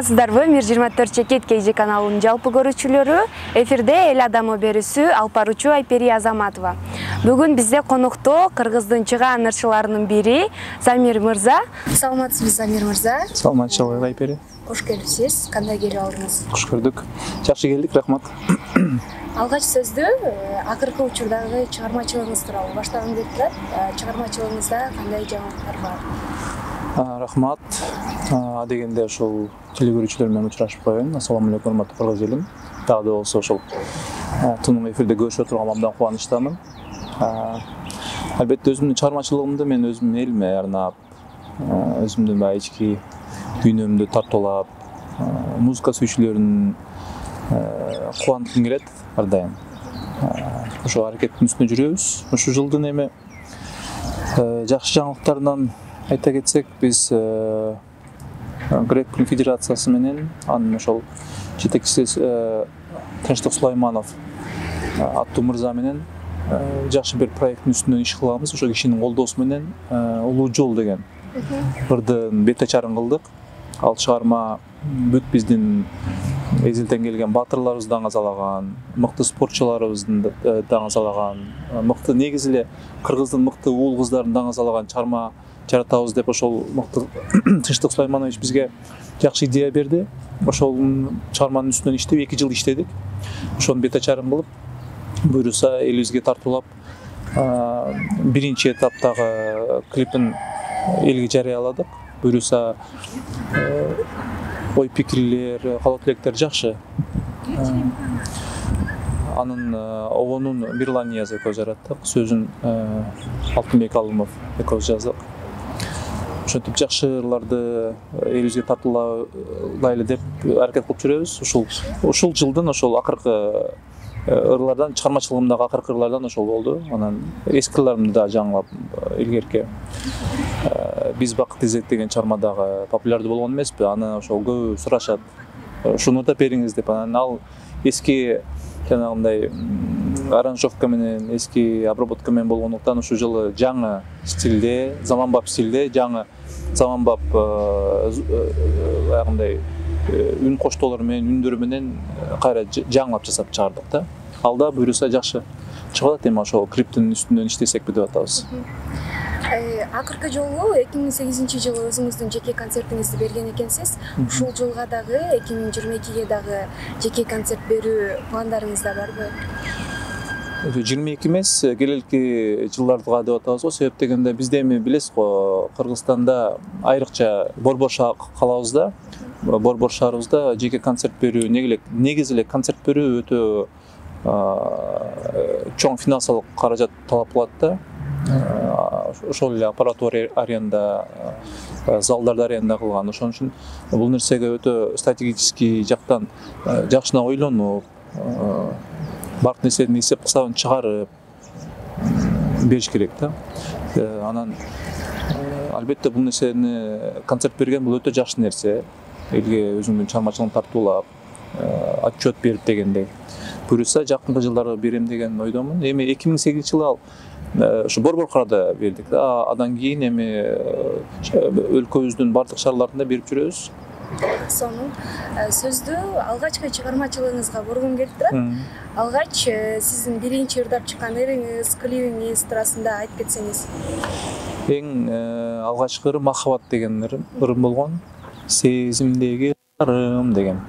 Саламатсыздарбы? Мир 24 Чекет KG каналынын жалпы көрүүчүлөрү. Эфирде эл адамы берүүсү алып баруучу Айпери Азаматова. Бүгүн бизде конокто Кыргыздын чыгаан ырчыларынын бири Замир мырза. Саламатсызбы, Замир мырза? Саламатчылык, Айпери. Кош келипсиз. Кандай келип алдыңыз? Кош көрдүк. Жакшы келдик, рахмат. Алгач сөздү акыркы учурдагы чыгармачылыгыңыз тууралуу баштагым келип турат. Чыгармачылыгыңызда кандай жаңылыктар бар? Рахмат. Дегенде ошол теле көрүүчүлөр менен учурашып коеюн. Ассаламу алейкум, урматтуу кыргыз элим. Дагы да болсо ошол тунук эфирде көрүшүп отурганга абдан кубанычтамын. Албетте өзүмдүн чыгармачылыгымды мен өзүмдүн элиме арнап, өзүмдүн баягы ички дүйнөмдү тартуулап, музыка сүйүүчүлөрүн кубанткым келет ар дайым. Ошол аракеттин үстүндө жүрөбүз. Ушул жылдын эми жакшы жаңылыктарынан айта кетсек, биз Грек конфедерациясы менен анын ошол жетекчиси Тынчтык Сулайманов аттуу мырза менен жакшы бир проекттин үстүнөн иш кылабыз. Ошол кишинин колдоосу менен Улуу жол деген ырдын бет ачарын кылдык. Ал чыгарма бүт биздин эзелден келген баатырларыбызды даңазалаган, мыкты спортчуларыбызды даңазалаган, мыкты негизи эле Кыргыздын мыкты уул кыздарын даңазалаган чыгарма жаратабыз деп ошол мыкты Тынчтык Сулайманович бизге жакшы идея берди. Ошол чыгарманын үстүнөн иштеп 2 жыл иштедик. Ошонун бет ачарын кылып, буюрса элибизге тартуулап, биринчи этаптагы клипин элге жарыяладык. Буюрса ой пикирлер, каалоо тилектер жакшы. Анын обонун Мирлан Нияз экөөбүз жараттык, сөзүн Алтынбек Алымов экөөбүз жаздык. Ошентип жакшы ырларды элибизге тартуулайлы деп аракет кылып жүрөбүз. Ушул жылдын ошол акыркы ырлардан, чыгармачылыгымдагы акыркы ырлардан ошол болду. Анан эски ырларымды да жаңылап илгерки биз бакыт изет деген чыгармадагы популярдуу болгон эмеспи? Аны ошол көбү сурашат. Шуну да бериңиз деп. Анан ал эски жанагындай аранжировка менен, эски обработка менен болгондуктан ушул жылы жаңы стилде, заманбап стилде, жаңы заманбап аягындай үн коштоолор менен, үндөр менен кайра жаңылап жасап чыгардык да. Алда буюрса жакшы чыгып атат, эми ошол клиптин үстүнөн иштесекпи деп атабыз. Акыркы жолу 2008-жылы өзүңүздүн жеке концертиңизди берген экенсиз. Ушул жылга дагы 2022-ге дагы жеке концерт берүү пландарыңызда барбы? 22 эмес, келелки жылдарга деп атабыз го. Себеп дегенде бизде эми билесиз го, Кыргызстанда айрыкча Борбор калабыз да. Борбор шаарыбызда жеке концерт берүү, негизи эле концерт берүү өтө чоң финансылык каражат талап кылат да. Ошол эле аппаратура аренда, залдарды аренда кылган. Ошон үчүн бул нерсеге өтө стратегический жактан жакшына ойлонуп, бардык нерсенин эсеп кысабын чыгарып бериш керек да. Анан албетте бул нерсени концерт берген бул өтө жакшы нерсе. Элге өзүңдүн чыгармачылыгыңды тартуулап, отчет берип дегендей. Буюрса жакынкы жылдары берем деген ойдомун. Эми 2008-жылы ал ушу Борборкада бердик да. Андан кийин эми өлкөбүздүн бардык шаарларында берип жүрөбүз. Сонун сөздү алгачкы чыгармачылыгыңызга бургум келип турат. Алгач сиздин биринчи ырдап чыккан ырыңыз, клибиңиз туурасында айтып кетсеңиз. Эң алгачкы ырым Махаббат деген ырым болгон. Сезимдеги ырым деген.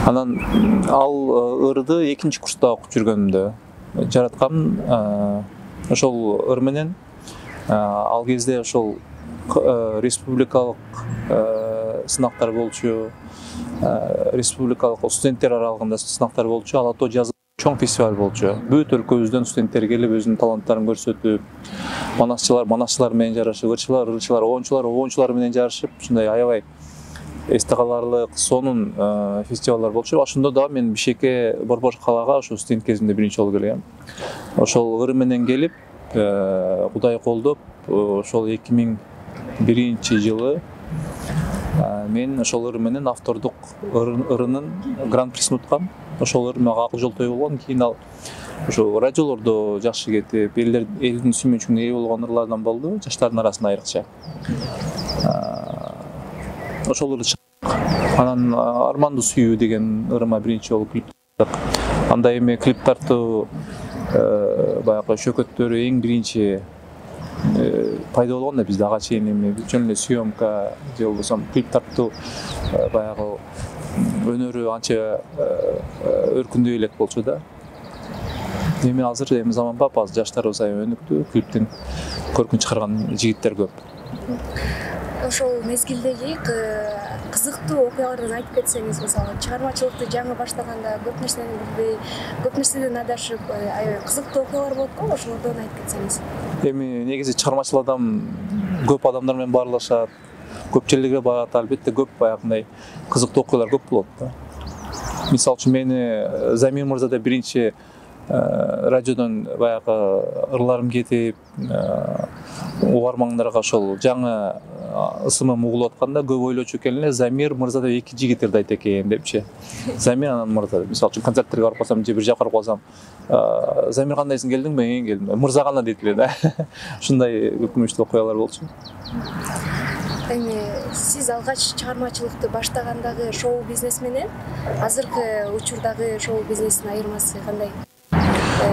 Анан ал ырды 2-курста окуп жүргөнүмдө жараткам. Ошол ыр менен ал кезде ошол республикалык сынактар болчу, республикалык студенттер аралыгында сынактар болчу, Ала тоо жазып чоң фестиваль болчу. Бүт өлкөбүздөн студенттер келип өзүнүн таланттарын көрсөтүп, манасчылар менен жарышып, ырчылар, оончулар менен жарышып, ушундай аябай эсте каларлык сонун фестивалдар болчу. Ошондо да мен Бишкекке, Борбор калаага ошол студент кезимде биринчи жолу келгем. Ошол ыры менен келип, Кудай колдоп, ошол 2001-жылы мен ошол ыры менен автордук ырынын гран-присин уткам. Ошол ыр мага акыл жол той болгон. Кийин ал ошо радиолордо жакшы кетип, элдин сүймөнчүлүгүнө ээ болгон ырлардан болду, жаштардын арасында айрыкча. Ошол ырды Анан Арманды сүйүү деген ырыма биринчи жолу клип тарттык. Анда эми клип тартуу баягы шөкөттөрү эң биринчи пайда болгон да бизде ага чейин эми жөн эле съемка же болбосо клип тартуу баягы өнөрү анча өркүндөй элек болчу да. Эми азыр эми заманбап, азыр жаштарыбыз аябай өнүктү, клиптин көркүн чыгарган жигиттер көп. Ошол мезгилдеги кызыктуу окуялардан айтып кетсеңиз, мисалы чыгармачылыкты жаңы баштаганда көп нерсени билбей, көп нерседен адашып, аябай кызыктуу окуялар болот го, ошолордон айтып кетсеңиз. Эми негизи чыгармачыл адам көп адамдар менен баарлашат, көп жерлерге барат, албетте көп баягындай кызыктуу окуялар көп болот да. Мисалы үчүн мени Замир мырзада биринчи радиодон баягы ырларым кетип, угармандарга ошол жаңы ысымым угулуп атканда көп ойлочу экен эле, Замир мырза деп эки жигит ырдайт экен депчи. Замир анан мырза. Мисалы үчүн концерттерге барып калсам же бир жака барып калсам, Замир кандайсың, келдиңби? Келдим. Мырза кандай дейт эле да. Ушундай өкүнүчтүү окуялар болчу. Эми сиз алгач чыгармачылыкты баштагандагы шоу бизнес менен азыркы учурдагы шоу бизнестин айырмасы кандай?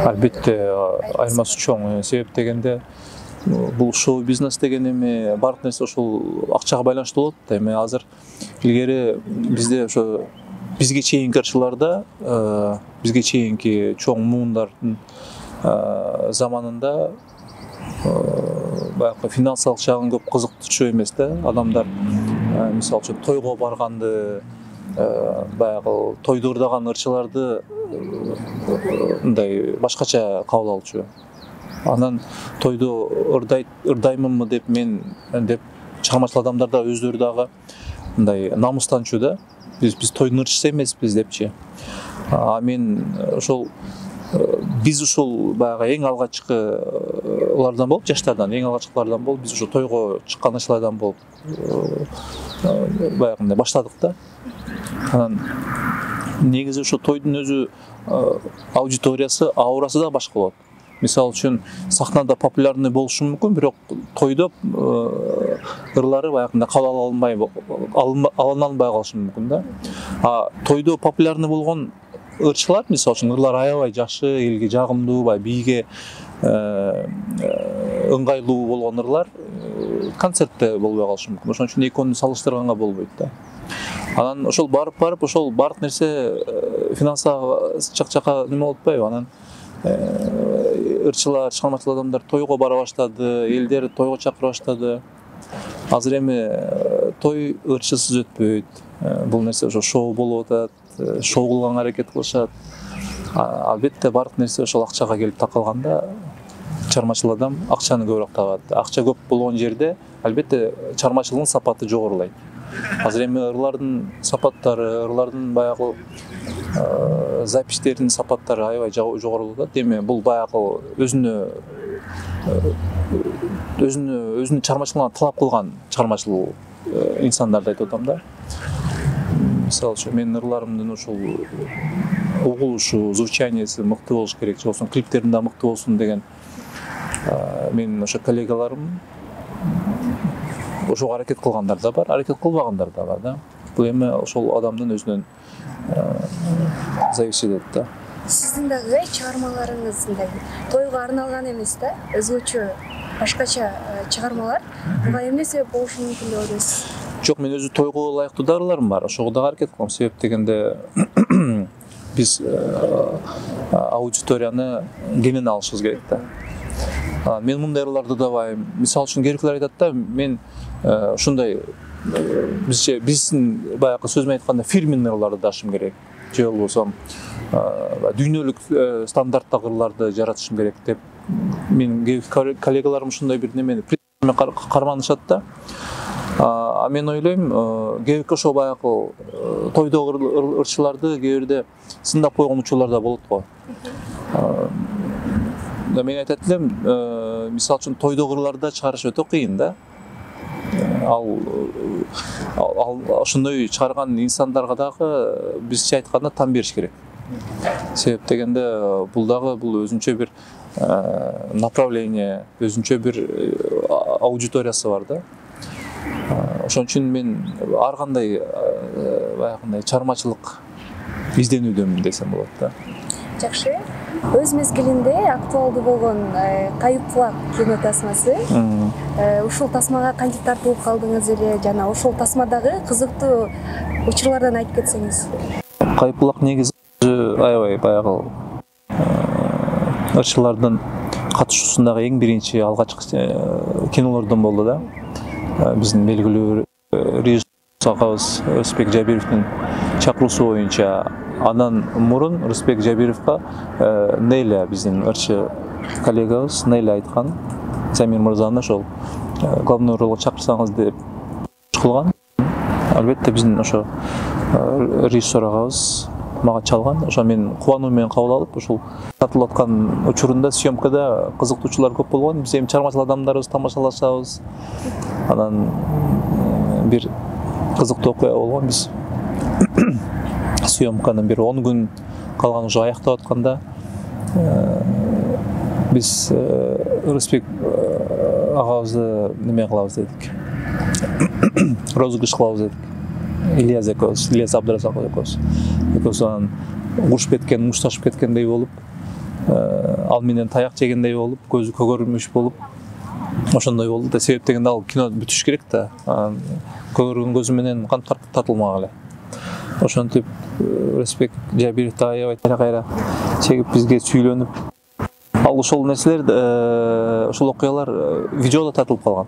Албетте айырмасы чоң. Себеп дегенде бул шоу бизнес деген эми баардык нерсе ошол акчага байланыштуу болот да. Эми азыр илгери бизде ошо бизге чейинки ырчыларда, бизге чейинки чоң муундардын заманында баягы финансылык жагын көп кызыктырчу эмес да. Адамдар мисалы үчүн тойго барганды, баягы тойду ырдаган ырчыларды мындай башкача кабыл алчу. Анан тойду ырдаймынбы деп мен деп чыгармачыл адамдар да өздөрү дагы мындай намыстанчу да. Биз тойдун ырчысы эмеспиз депчи. Мен ошол биз ушул баягы эң алгачкылардан болуп, жаштардан эң алгачкылардан болуп, биз ошо тойго чыккан ырчылардан болуп баягындай баштадык да. Анан негизи ошо тойдун өзү аудиториясы, аурасы да башка болот. Мисалы үчүн сахнада популярный болушу мүмкүн, бирок тойдо ырлары баягындай кабыл алынбай калышы мүмкүн да. Тойдо популярный болгон ырчылар, мисалы үчүн ырлар аябай жакшы, элге жагымдуу, бийге ыңгайлуу болгон ырлар концертте болбой калышы мүмкүн. Ошон үчүн экөөнү салыштырганга болбойт да. Анан ошол барып ошол баардык нерсе финансага чак-чака неме болуп атпайбы? Анан ырчылар, чыгармачыл адамдар тойго бара баштады, элдер тойго чакыра баштады. Азыр эми той ырчысыз өтпөйт. Бул нерсе ошо шоу болуп атат, шоу кылганга аракет кылышат. Албетте баардык нерсе ошол акчага келип такалганда чыгармачыл адам акчаны көбүрөөк табат. Акча көп болгон жерде албетте чыгармачылыктын сапаты жогорулайт. Азыр эми ырлардын сапаттары, ырлардын баягы записьтердин сапаттары аябай жогорулуп атат. Эми бул баягы өзүнө чыгармачылыгына талап кылган чыгармачыл инсандарды айтып атам да. Мисалы үчүн менин ырларымдын ушул угулушу, звучаниясы мыкты болуш керек, же болбосо клиптерим да мыкты болсун деген менин ошо коллегаларым ошого аракет кылгандар да бар, аракет кылбагандар да бар да. Бул эми ошол адамдын өзүнөн зависит этет да. Сиздин дагы чыгармаларыңыз мындай тойго арналган эмес да, өзгөчө башкача чыгармалар. Буга эмне себеп болушу мүмкүн деп ойлойсуз? Жок, мен өзү тойго ылайыктуу да ырларым бар. Ошого дагы аракет кылам. Себеп дегенде биз аудиторияны кенен алышыбыз керек да. Мен мындай ырларды удаабайм. Мисалы үчүн кээбиркилер айтат да, мен ушундай биздин баягы сөз менен айтканда фирменный ырларды дашым керек. Же болбосо дүйнөлүк стандарттагы ырларды жаратышым керек деп менин коллегаларым ушундай бир немени карманышат да. Мен ойлойм, кээбирки ошо баягы тойдогу ырчыларды кээ бирде сындап койгон учурлар да болот го. Мен айтат элем, мисалы үчүн тойдогу ырларды чыгарыш өтө кыйын да. Ал ошондой чыгарган инсандарга дагы бизче айтканда там бериш керек. Себеп дегенде бул өзүнчө бир направление, өзүнчө бир аудиториясы бар да. Ошон үчүн мен ар кандай баягындай чыгармачылык изденүүдөмүн десем болот да. Жакшы. Өз мезгилинде актуалдуу болгон Кайып флаг кино тасмасы. Ушул тасмага кантип тартылып калдыңыз эле жана ошол тасмадагы кызыктуу учурлардан айтып кетсеңиз. Кайып флаг негизи аябай баягы ырчылардын катышуусундагы эң биринчи алгачкы кинолордон болду да. Биздин белгилүү режиссер агабыз Рысбек Жабировдун чакыруусу боюнча андан мурун Рысбек Жабировго Нейля биздин ырчы коллегабыз Нейля айткан, Замир мырзаны ошол главный ролго чакырсаңыз деп кылган. Албетте биздин ошо режиссер агабыз мага чалган. Ошо мен кубануу менен кабыл алып, ушул тартылып аткан учурунда съемкада кызыктуучулар көп болгон. Биз эми чыгармачыл адамдарыбыз тамашалашабыз. Анан бир кызыктуу окуя болгон. Биз съемканын бир 10 күн калган уже аяктап атканда биз Рысбек агабызды неме кылабыз дедик. Розыгрыш кылабыз дедик. Ильяс Абдыразаков экөөбүз анан урушуп кеткен, мушташып кеткендей болуп, ал менен таяк жегендей болуп, көзү көгөрмүш болуп, ошондой болду да. Себеп дегенде ал кино бүтүш керек да. Көгөргөн көзү менен кантип тартылмак эле. Ошентип Рысбек Жабировду аябай кайра чегип бизге сүйлөнүп, ал ошол нерселер, ошол окуялар видеодо тартылып калган.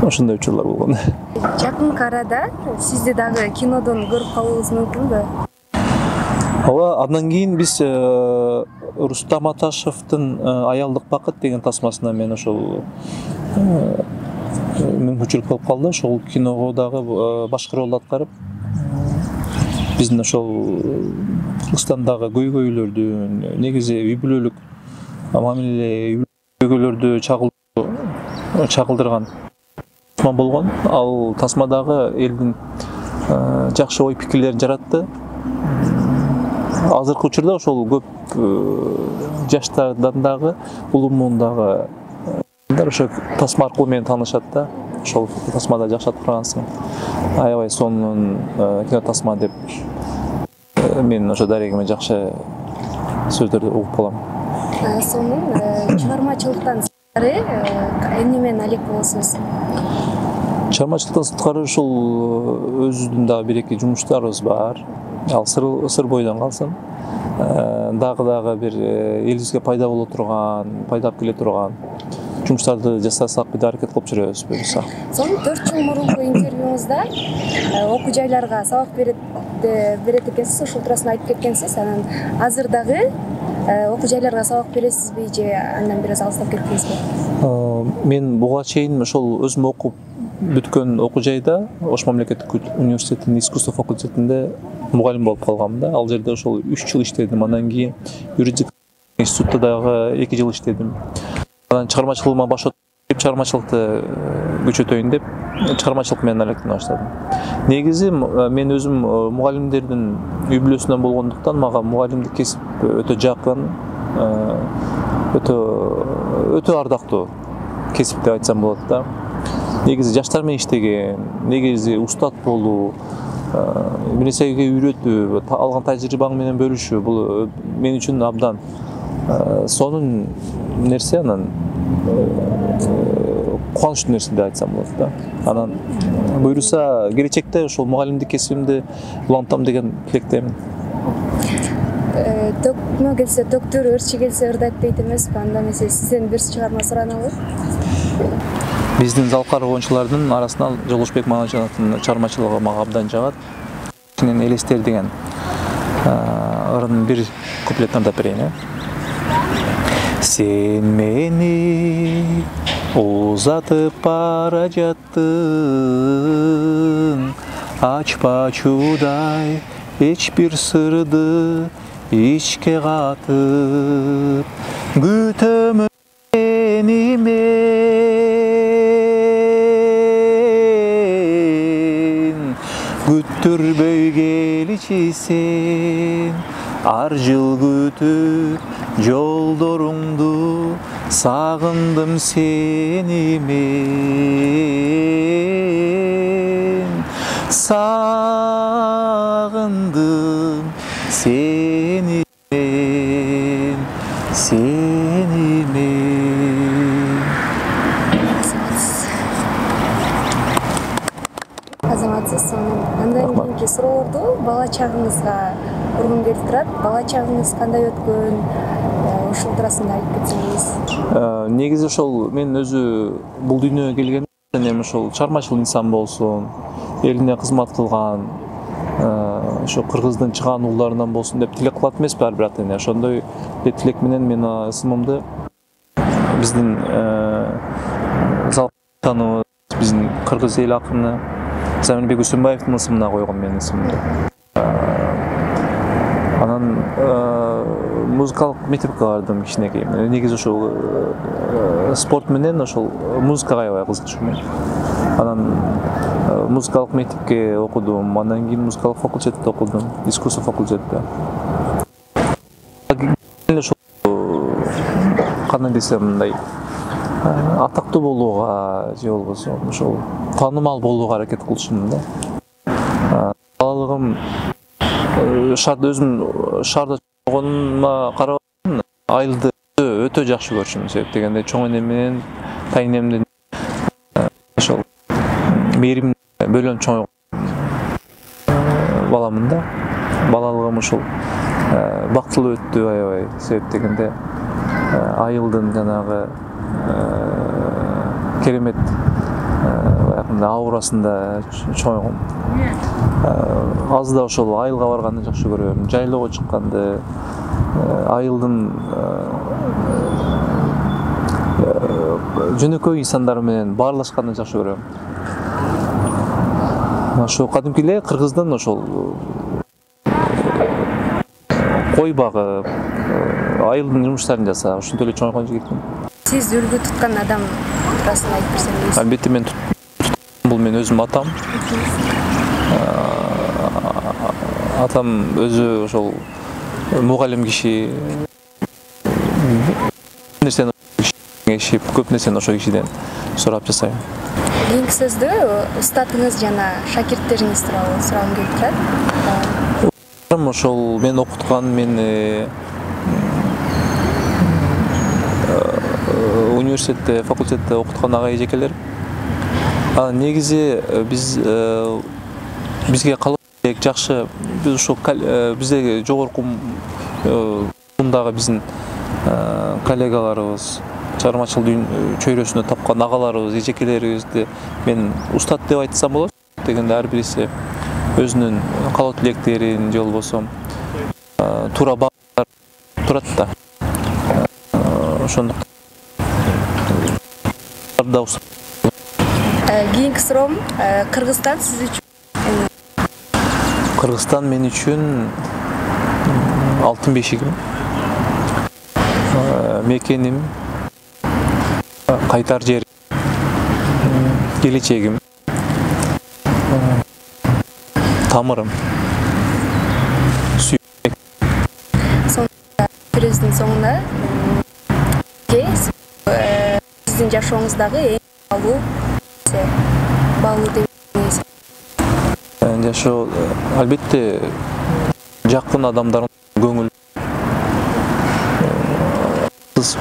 Ошондой учурлар болгон. Жакынкы арада сизди дагы кинодон көрүп калуубуз мүмкүнбү? Ооба, андан кийин биз Рустам Аташевдин Аялдык бакыт деген тасмасына мен ошол мүмкүнчүлүк болуп калды. Ошол киного дагы башкы ролду аткарып, биздин ошол Кыргызстандагы көйгөйлөрдү, негизи үй бүлөлүк мамиле көйгөйлөрдү чагылдырган тасма болгон. Ал тасмадагы элдин жакшы ой пикирлерин жаратты. Азыркы учурда ошол көп жаштардан дагы, улуу муундагы ошо тасма аркылуу менен таанышат да. Ошол тасмада жакшы аткаргансың. Аябай сонун кино тасма деп мен ошо дарегиме жакшы сөздөрдү угуп калам. Сонун чыгармачылыктан сырткары эмне менен алек болосуз? Чыгармачылыктан сырткары ушул өзүбүздүн дагы бир-эки жумуштарыбыз бар. Ал сыр бойдон калсын. Дагы бир элибизге пайда боло турган, пайдап келе турган жумуштарды жасасак деп аракет кылып жүрөбүз буюрса. Son 4 жыл мурунку интервьюңузда окуу жайларга сабак берет экенсиз, ушул туурасында айтып кеткенсиз. Анан азыр дагы окуу жайларга сабак бересизби же андан бир аз алыстап кеттиңизби? Мен буга чейин ошол өзүм окуп бүткөн окуу жайда, Ош мамлекеттик университетинин искусство факультетинде мугалим болуп калганмын да. Ал жерде ошол 3 жыл иштедим. Андан кийин юридик институтта дагы 2 жыл иштедим. Анан чыгармачылыгыма баш отуруп, чыгармачылыкты күчөтөйүн деп, чыгармачылык менен алектене баштадым. Негизи мен өзүм мугалимдердин үй бүлөсүнөн болгондуктан мага мугалимдик кесип өтө жакын, өтө ардактуу кесип деп айтсам болот да. Негизи жаштар менен иштеген, негизи устат болуу, бир нерсеге үйрөтүү, алган тажрыйбаң менен бөлүшүү, бул мен үчүн абдан сонун нерсе, анан кубанычтуу нерсе деп айтсам болот да. Анан буюрса келечекте ошол мугалимдик кесибимди улантам деген тилектемин. Төкмө келсе төктүр, ырчы келсе ырдайт дейт эмеспи? Анда эмесе сизден бир чыгарма сураналы. Биздин залкар коомчулардын арасынан Жолошбек Манажановдун чыгармачылыгы мага абдан жагат. Менен элестер деген ырынын бир куплетин ырдап берейин. Сен мени узатып бара жаттың, ачпачудай эч бир сырды ичке катып, күтөмүн сени мен, күттүрбөй келичи сен, ар жыл күтүп жолдоруңду, сагындым сени мен, сагындым сени мен, сени мен. Азаматсыз. Андан кийинки суроолорду бала чагыңызга ургум келип турат. Бала чагыңыз кандай өткөн? Ушул туурасында айтып кетсеңиз. Негизи ошол мен өзү бул дүйнөгө келгенде эми ошол чармачыл инсан болсун, элине кызмат кылган, ошо кыргыздын чыгаан уулдарынан болсун деп тилек кылат эмеспи ар бир ата эне. Ошондой тилек менен мен ысымымды биздин залканыбыз, биздин кыргыз эл акыны Замирбек Үсөнбаевдин ысымына койгом мен ысымымды. Анан музыкалык мектепке бардым кичинекей. Негизи ошол спорт менен ошол музыкага аябай кызыгышым. Анан музыкалык мектепке окудум, андан кийин музыкалык факультетте окудум, искусство факультетте. Ошол кандай десем, мындай атактуу болууга же болбосо ошол таанымал болууга аракет кылышым да. Балалыгым шаарда өзүм шаарда чогонума карап айылды өтө жакшы көрчүмүн. Себеп дегенде чоң энем менен тайнемдин ошол мээрим бөлөм чоң баламын да. Балалыгым ошол бактылуу өттү аябай. Себеп дегенде айылдын жанагы керемет аурасында чоңойгом. Азда ошол айылга барганды жакшы көрөм, жайлоого чыкканды, айылдын жөнөкөй инсандар менен баарлашканды жакшы көрөм. Ошо кадимки эле кыргыздын ошол кой багып, айылдын жумуштарын жасап, ошентип эле чоңойгон жигитмин. Сиз үлгү туткан адам туурасында айтып берсеңиз. Албетте мен бул мен өзүм атам. Атам өзү ошол мугалим киши. Нерсени кеңешип, көп нерсени ошол кишиден сурап жасайм. Кийинки сөздө устатыңыз жана шакирттериңиз тууралуу сурагым келип турат. Ошол мен окуткан, мен университетте, факультетте окуткан ага эжекелер. Негизи бизге калып жакшы, биз ошол бизде жогорку мундагы биздин коллегаларыбыз, чыгармачыл чөйрөсүндө тапкан агаларыбыз, эжекелерибизди мен устат деп айтсам болот. Дегенде ар бириси өзүнүн каалоо тилектерин же болбосо туура багыттар турат да. Ошондуктан кийинки суроом, Кыргызстан сиз үчүн? Кыргызстан мен үчүн алтын бешигим, мекеним, кайтар жерим, келечегим, тамырым. Сөзүнүн соңунда сиздин жашооңуздагы эң баалуу деп жашоо албетте жакын адамдардын көңүл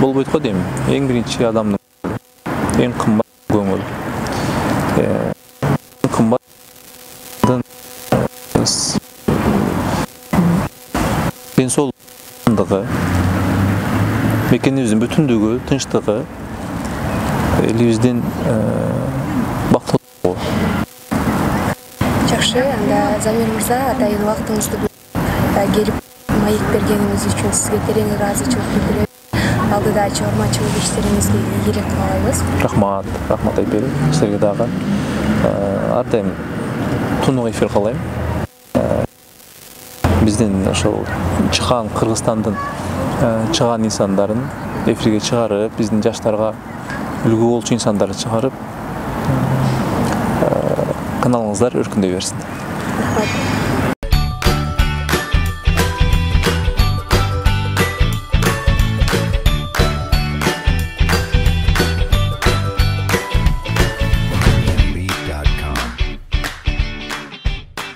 болбойт го дейм. Эң биринчи адамдын эң кымбат көңүл. Кымбаттын денсаулыгы, мекенибиздин бүтүндүгү, тынчтыгы, элибиздин бактылуулугу. Жакшы, анда Замир мырза, атайын убактыңызды келип маек бергениңиз үчүн сизге терең ыраазычылык билдирем. Алдыда чыгармачылык иштериңизге ийгилик каалайбыз. Рахмат Айпери. Сизге дагы ар дайым тунук эфир каалайм. Биздин ошол чыгаан Кыргызстандын чыгаан инсандарын эфирге чыгарып, биздин жаштарга үлгү болчу инсандарды чыгарып, каналыңыздар өркүндөй берсин. Рахмат.